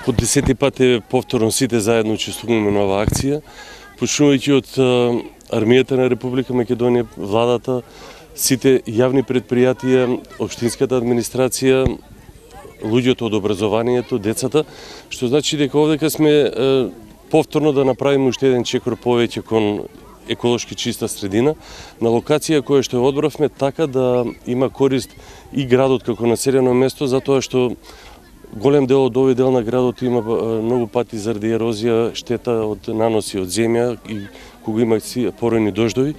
По 10 пат повторно сите заедно учествуваме на оваа акција, почнувајќи од армијата на Република Македонија, владата, сите јавни предпријатија, општинската администрација, луѓето од образованието, децата, што значи дека овдека сме повторно да направиме уште еден чекор повеќе кон еколошки чиста средина, на локација која што ја одбравме така да има корист и градот како населено место, затоа што голем дел од овој дел на градот има многу пати заради ерозија штета од наноси од земја и кога има поројни дождови.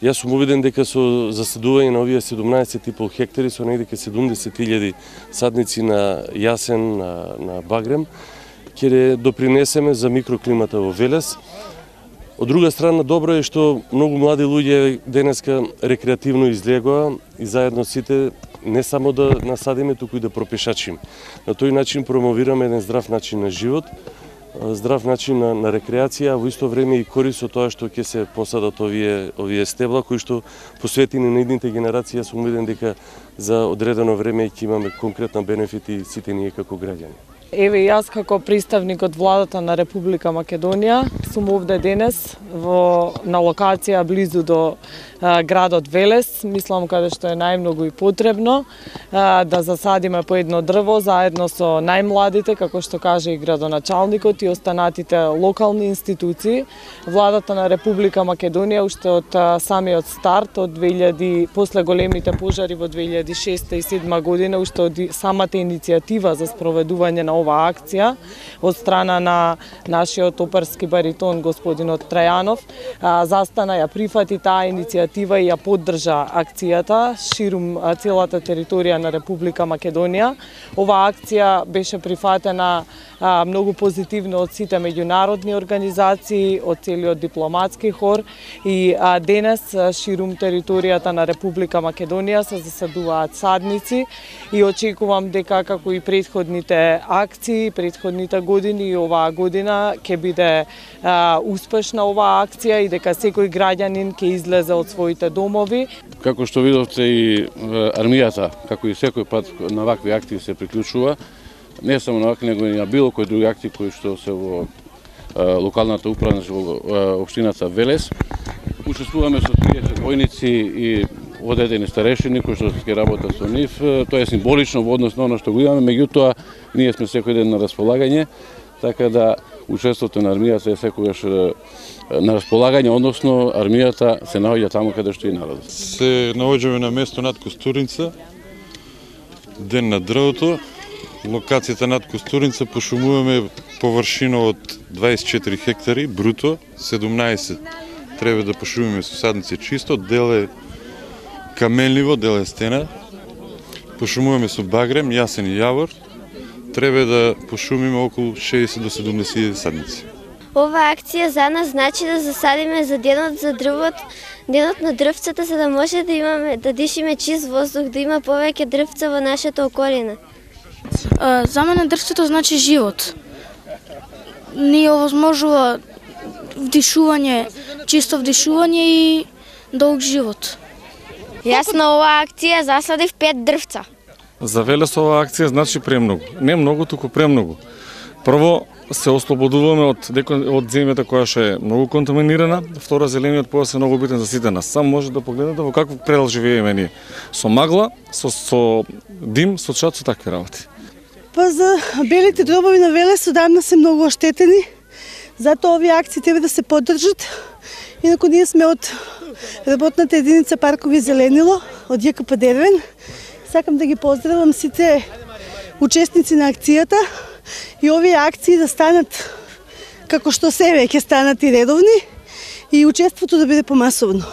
Јас сум убеден дека со заседување на овие 17,5 хектари со негде 70.000 садници на јасен, на багрем, ќе допринесеме за микроклимата во Велес. Од друга страна, добро е што многу млади луѓе денеска рекреативно излегоа и заедно сите не само да насадиме, туку и да пропешачиме. На тој начин промовираме еден здрав начин на живот, здрав начин на рекреација, а во исто време и корист од тоа што ќе се посадат овие стебла, кои што посветени на идните генерации, сум убеден дека за одредено време ќе имаме конкретна бенефити сите ние како граѓани. Еве јас како представник од владата на Република Македонија сум овде денес на локација близу до градот Велес, мислам каде што е најмногу и потребно да засадиме по едно дрво заедно со најмладите, како што каже и градоначалникот и останатите локални институции. Владата на Република Македонија уште од самиот старт од после големите пожари во 2006 и 2007 година, уште од самата иницијатива за спроведување на оваа акција од страна на нашиот оперски баритон господинот Трајанов, застана, ја прифати таа иницијатива и ја поддржа акцијата ширум целата територија на Република Македонија. Оваа акција беше прифатена многу позитивно од сите меѓународни организации, од целиот дипломатски хор и денес ширум територијата на Република Македонија се засадуваат садници и очекувам дека како и претходните акции, претходните години и оваа година ќе биде успешна оваа акција и дека секој граѓанин ќе излезе од своите домови. Како што видовте и армијата, како и секој пат на вакви акции се приклучува, не само на вакви, него и на било кои други акции кои што се во локалната управа, во општината Велес. Учествуваме со 30 војници и одредени старешини кои што ќе работат со нив. Тоа е символично во однос на оно што го имаме, меѓутоа ние сме секој ден на располагање, така да учеството на армијата е секогаш на располагање, односно армијата се наоѓа таму каде што и народот. Се наоѓаме на место над Костурница, ден на дрвото. Локацијата над Костурница пошумуваме површина од 24 хектари, бруто, 17 треба да пошумиме со садници чисто, дел е каменливо, дел е стена. Пошумуваме со багрем, јасен и јавор, треба да пошумиме околу 60 до 70 садници. Ова акција за нас значи да засадиме за денот за дрвот, денот на дрвцата, за да може да имаме, да дишиме чист воздух, да има повеќе дрвца во нашата околина. За мене дрвцето значи живот. Ни овозможува вдишување, чисто вдишување и долг живот. Јас на оваа акција засадив 5 дрвца. За Велес оваа акција значи премногу. Не многу, туку премногу. Прво, се ослободуваме од земјата која што е многу контаминирана. Второ, зелениот појас е многу битен за сите нас. Сам може да погледнете во каков предел живееме ние. Со магла, со дим, со чад, со такви работи. Па за белите дробови на Велес одамна се многу оштетени. Затоа овие акции треба да се поддржат. Инаку ние сме од работната единица Паркови зеленило, од ЈКП Дервен. Сакам да ги поздравам сите учесници на акцијата и овие акции да станат како што се веќе станат и редовни и учеството да биде помасовно.